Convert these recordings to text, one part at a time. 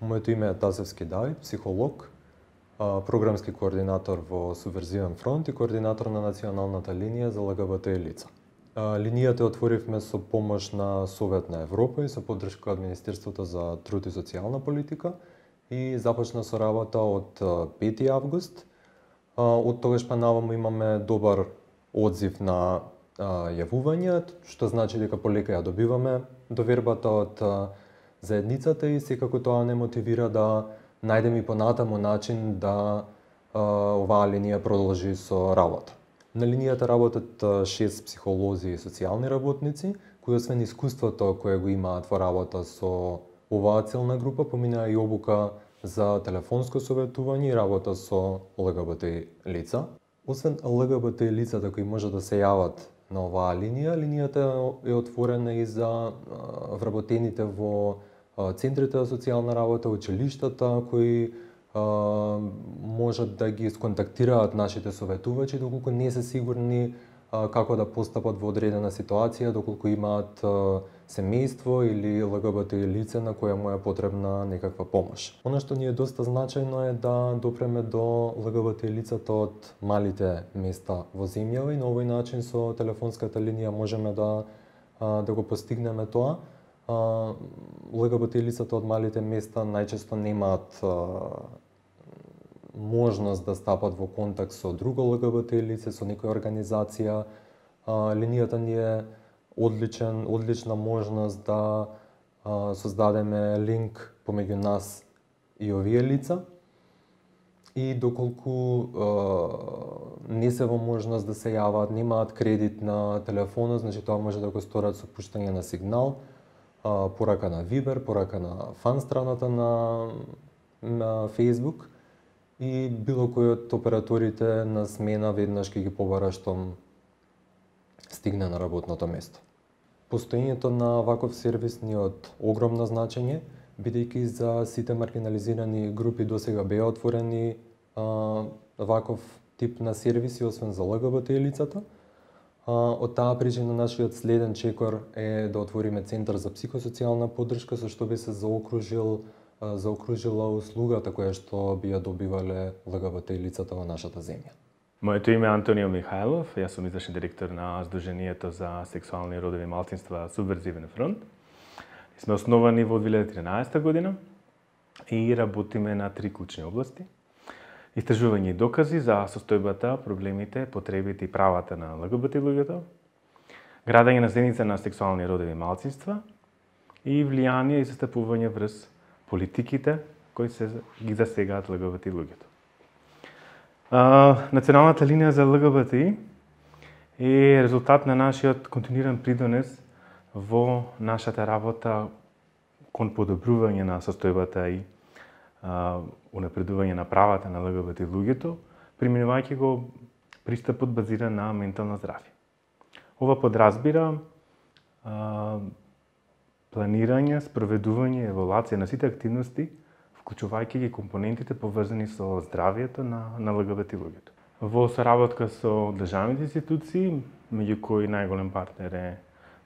Моето име е Тасевски Давид, психолог, програмски координатор во Субверзивен фронт и координатор на националната линија за ЛГБТ лица. Линијата отворивме со помош на Совет на Европа и со поддршка од Министерството за труд и социјална политика и започна со работа од 5 август. Од тогаш па наваму имаме добар одзив на јавување, што значи дека полека ја добиваме довербата од заедницата и секако тоа не мотивира да најдеме и понатаму начин да оваа линија продолжи со работа. На линијата работат 6 психолози и социјални работници, кои освен искуството кое го имаат во работа со оваа целна група, поминаа и обука за телефонско советување и работа со ЛГБТ лица. Освен ЛГБТ лицата кои може да се јават на оваа линија, линијата е отворена и за вработените во центрите за социјална работа, училиштата, кои можат да ги сконтактираат нашите советувачи доколку не се сигурни како да постапат во одредена ситуација, доколку имаат семејство или ЛГБТ лице на која му е потребна некаква помош. Она што ни е доста значајно е да допреме до ЛГБТ лицата од малите места во земјава и на овој начин со телефонската линија можеме да го постигнеме тоа. ЛГБТ лицата од малите места најчесто немаат можност да стапат во контакт со друго ЛГБТ лице, со некоја организација. Линијата ни е одлична можност да создадеме линк помеѓу нас и овие лица. И доколку не се во можност да се јават, немаат кредит на телефонот, значи тоа може да го сторат со пуштање на сигнал, порака на Viber, порака на фан страната на Facebook и било кој од операторите на смена веднаш ќе ги побара штом стигне на работното место. Постоењето на ваков сервис ни е од огромно значење, бидејќи за сите маргинализирани групи досега беа отворени ваков тип на сервиси, освен за ЛГБТ лицата. Од таа причина нашиот следен чекор е да отвориме центар за психосоцијална поддршка, со што би се заокружила услугата која што би ја добивале ЛГБТ лицата во нашата земја. Моето име е Антонио Михајлов, јас сум извршен директор на Сдруженијето за сексуални и родови малцинства Субверзивен фронт. Сме основани во 2013 година и работиме на 3 клучни области. Истражување и докази за состојбата, проблемите, потребите и правата на ЛГБТ луѓето, градење на заедница на сексуални и родови малцинства и влијание и застапување врз политиките кои се ги засегаат ЛГБТ луѓето. Националната линија за ЛГБТ е резултат на нашиот континуиран придонес во нашата работа кон подобрување на состојбата и унапредување на правата на ЛГБТ луѓето, применувајќи го пристапот базиран на ментално здравје. Ова подразбира планирање, спроведување и евалуација на сите активности, вклучувајќи ги компонентите поврзани со здравјето на ЛГБТ луѓето. Во соработка со државните институции, меѓу кои најголем партнер е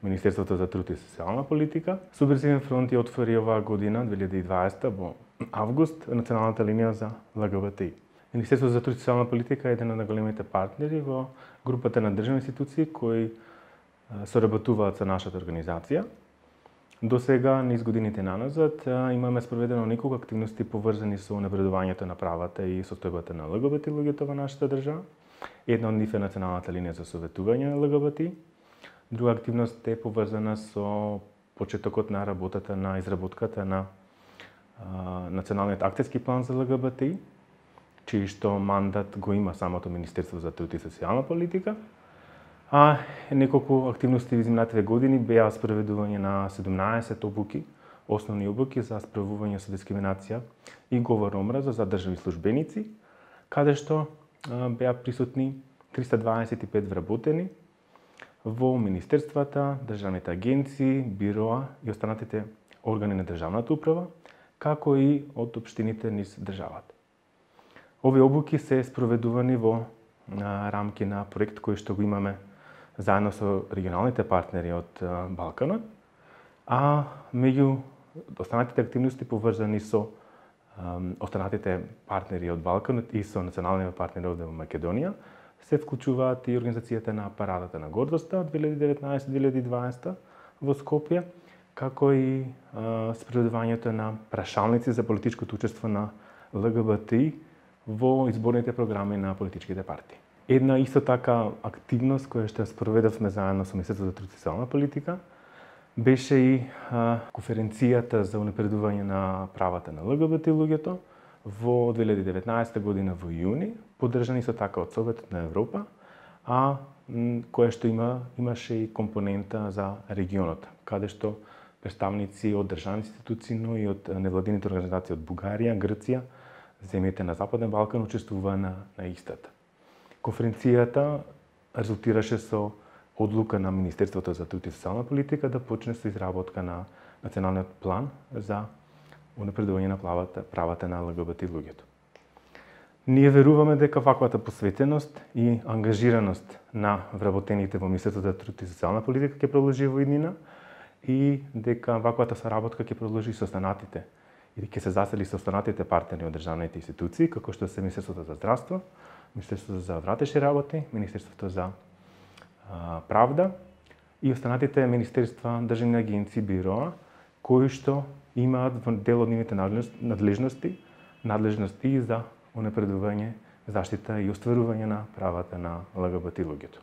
Министерството за труд и социјална политика, Субверзивен фронт ја отвори оваа година, 2020, во август, националната линија за ЛГБТ. Министерството за труд и социјална политика е еден од најголемите партнери во групата на државни институции кои соработуваат со нашата организација. До сега, низ годините наназад, имаме спроведено неколку активности поврзани со унапредувањето на правата и состојбата на ЛГБТ луѓето во нашата држава. Една од нив е националната линија за советување на ЛГБТ. Друга активност е поврзана со почетокот на работата на изработката на Националниот акцијски план за ЛГБТ, чиј што мандат го има самото Министерство за труд и социјална политика. Неколку активности во изминатите години беа спроведување на 17 обуки, основни обуки за справување со дискриминација и говор омраза за државни службеници, каде што беа присутни 325 вработени во министерствата, државните агенции, бироа и останатите органи на државната управа, како и од општините низ државата. Овие обуки се спроведувани во рамки на проект кој што го имаме заедно со регионалните партнери од Балканот, а меѓу останатите активности поврзани со останатите партнери од Балканот и со националните партнери овде во Македонија, се вклучуваат и организацијата на Парадата на гордоста од 2019-2020 во Скопје, како и спроведувањето на прашалници за политичкото учество на ЛГБТИ во изборните програми на политичките партии. Една исто така активност која што спроведавме заедно со Министерството за труд и социјална политика беше и конференцијата за унапредување на правата на ЛГБТ луѓето во 2019 година во јуни, поддржани исто така од Советот на Европа, која што имаше и компонента за регионот, каде што представници од државни институции, но и од невладините организации од Бугарија, Грција, земјите на Западен Балкан учествуваа на истата. Конференцијата резултираше со одлука на Министерството за труд и социјална политика да почне со изработка на националниот план за унапредување на правата на ЛГБТ луѓето. Ние веруваме дека ваквата посветеност и ангажираност на вработените во Министерството за труд и социјална политика ќе продолжи во иднина и дека ваквата соработка ќе продолжи со останатите и ќе се засили со останатите партнери од државните институции, како што се Министерството за здравство, Министерството за вратешни работи, Министерството за правда и останатите министерства, државни агенции, бироа, кои што имаат дел од нивните надлежности за унапредување, заштита и остварување на правата на ЛГБТ луѓето.